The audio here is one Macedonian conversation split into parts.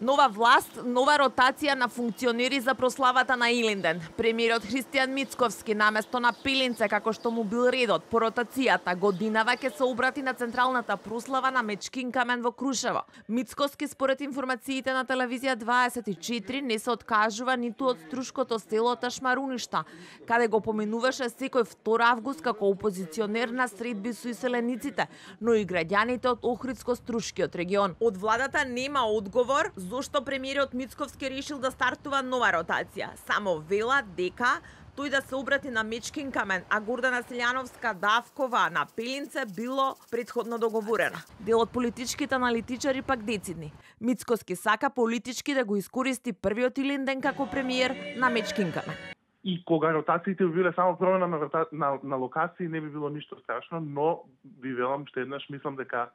Нова власт, нова ротација на функционери за прославата на Илинден. Премиерот Христијан Мицковски наместо на Пилинце, како што му бил редот по ротацијата, годинава ќе се обрати на централната прослава на Мечкин камен во Крушево. Мицковски според информациите на телевизија 24 не се откажува ниту од струшкото село Ташмаруништа, каде го поминуваше секој 2 август како опозиционер на средби со иселениците, но и граѓаните од Охридско-Струшкиот регион. Од владата нема одговор зошто премиерот Мицковски решил да стартува нова ротација. Само вела дека тој да се обрати на Мечкин камен, а Гордана Силјановска-Давкова на Пилинце било претходно договорено. Дел од политичките аналитичари пак децидни. Мицковски сака политички да го искористи првиот Илинден како премиер на Мечкин камен. И кога ротациите биле само промена на локации, не би било ништо страшно, но ви велам што еднаш мислам дека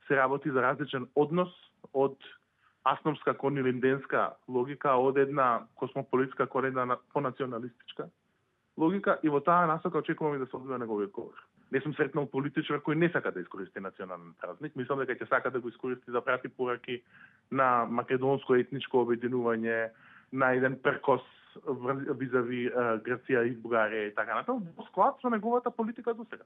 се работи за различен однос од асновска кон илинденска логика, од една космополитска кон една понационалистичка логика, и во таа насока очекувам и да се одбива неговиот говор. Не сум сретнал политичар кој не сака да искористи национален празник. Мислам дека ќе сака да го искористи за прати пораки на македонско етничко обединување, на еден перкос визави Грција и Бугарија и така натаму, во склад со неговата политика до сега.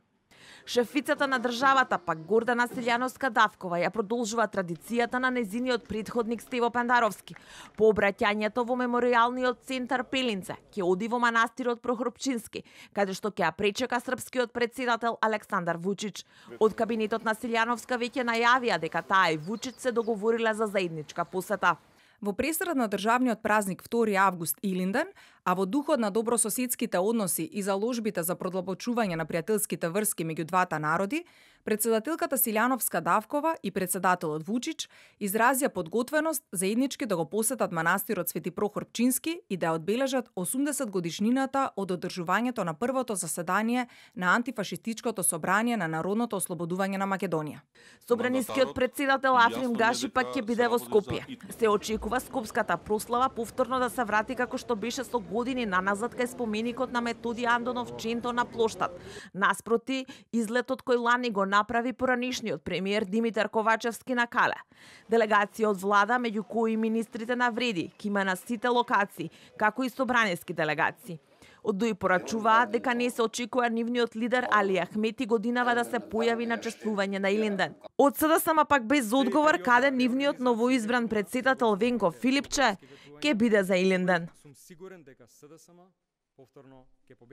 Шефицата на државата, пак Гордана Силјановска-Давкова, ја продолжува традицијата на незиниот претходник Стево Пендаровски. По обраќањето во меморијалниот центар Пилинце, ќе оди во манастирот Прохорпчински, каде што ќе ја пречека српскиот претседател Александар Вучич. Од кабинетот на Силјановска веќе најавија дека таа и Вучич се договорила за заедничка посета. Во пресред на државниот празник 2 август Илинден, а во духот на добрососедските односи и заложбите за продлабочување на пријателските врски меѓу двата народи, председателката Силјановска-Давкова и председателот Вучич изразија подготвеност заеднички да го посетат манастирот Свети Прохор Пчински и да одбележат 80 годишнината од одржувањето на првото заседание на антифашистичкото собрание на Народното ослободување на Македонија. Собранискиот председател Африм Гаши пак ќе биде во Скопје. Се очекува скопската прослава повторно да се врати како што беше со години наназад кај споменикот на Методи Андонов Ченто на плоштад. Наспроти, излетот кој лани го направи поранишниот премиер Димитар Ковачевски на Кале. Делегација од влада, меѓу кои министрите на Вреди, ки има на сите локации, како и собраниски делегации. Од ДОИ порачуваат дека не се очекува нивниот лидер Али Ахмети годинава да се појави на чествување на Илинден. Од СДСМ пак без одговор каде нивниот новоизбран председател Венко Филипче ќе биде за Илинден.